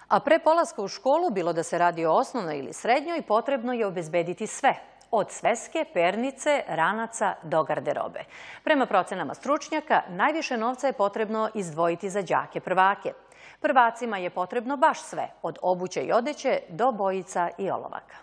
A pre polaska u školu, bilo da se radi o osnovnoj ili srednjoj, potrebno je obezbediti sve. Od sveske, pernice, ranaca do garderobe. Prema procenama stručnjaka, najviše novca je potrebno izdvojiti za đake prvake. Prvacima je potrebno baš sve, od obuće i odeće do bojica i olovaka.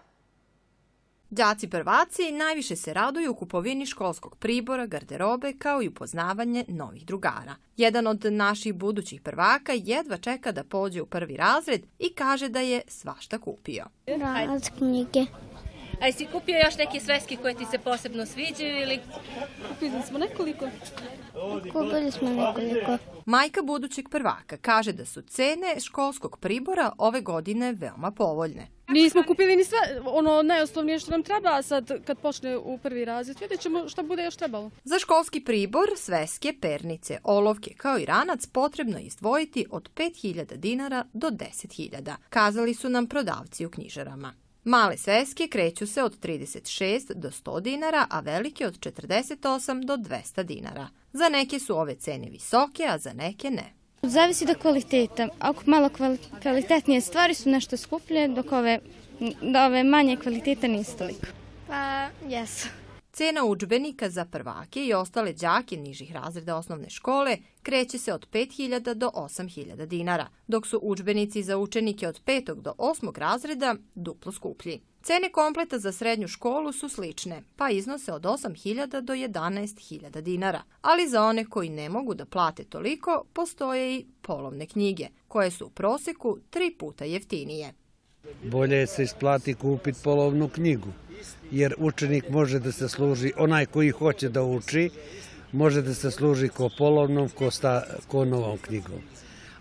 Đaci prvaci najviše se raduju kupovini školskog pribora, garderobe, kao i upoznavanje novih drugara. Jedan od naših budućih prvaka jedva čeka da pođe u prvi razred i kaže da je svašta kupio. Ranac, knjige. A jesi kupio još neke sveske koje ti se posebno sviđaju ili? Kupili smo nekoliko. Majka budućeg prvaka kaže da su cene školskog pribora ove godine veoma povoljne. Nismo kupili ni sve, ono najosnovnije što nam treba, a sad kad počne u prvi razred vidjet ćemo šta bude još trebalo. Za školski pribor, sveske, pernice, olovke kao i ranac potrebno je izdvojiti od 5.000 dinara do 10.000, kazali su nam prodavci u knjižarama. Male sveske kreću se od 36 do 100 dinara, a velike od 48 do 200 dinara. Za neke su ove cene visoke, a za neke ne. Zavisi do kvaliteta. Ako malo kvalitetnije stvari su nešto skuplje, dok ove manje kvaliteta nisu toliko. Pa, jesu. Cena udžbenika za prvake i ostale đake nižih razreda osnovne škole kreće se od 5.000 do 8.000 dinara, dok su udžbenici za učenike od 5. do 8. razreda duplo skuplji. Cene kompleta za srednju školu su slične, pa iznose od 8.000 do 11.000 dinara. Ali za one koji ne mogu da plate toliko, postoje i polovne knjige, koje su u proseku 3 puta jeftinije. Bolje se isplati kupiti polovnu knjigu, jer učenik može da se služi, onaj koji hoće da uči, može da se služi ko polovnom, ko novom knjigom.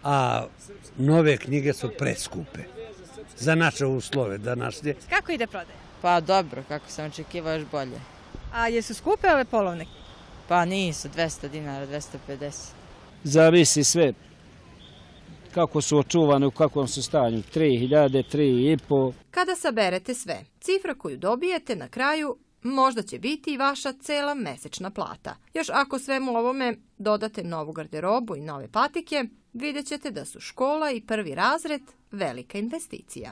A nove knjige su preskupe za naše uslove današnje. Kako ide prodaja? Pa dobro, kako sam očekivao, još bolje. A jesu skupe ove polovne? Pa nisu, 200 dinara, 250. Zavisi sve kako su očuvane, u kakvom su stanju, 3.000, 3.500. Kada saberete sve, cifra koju dobijete na kraju možda će biti i vaša cela mesečna plata. Još ako svemu ovome dodate novu garderobu i nove patike, vidjet ćete da su škola i prvi razred velika investicija.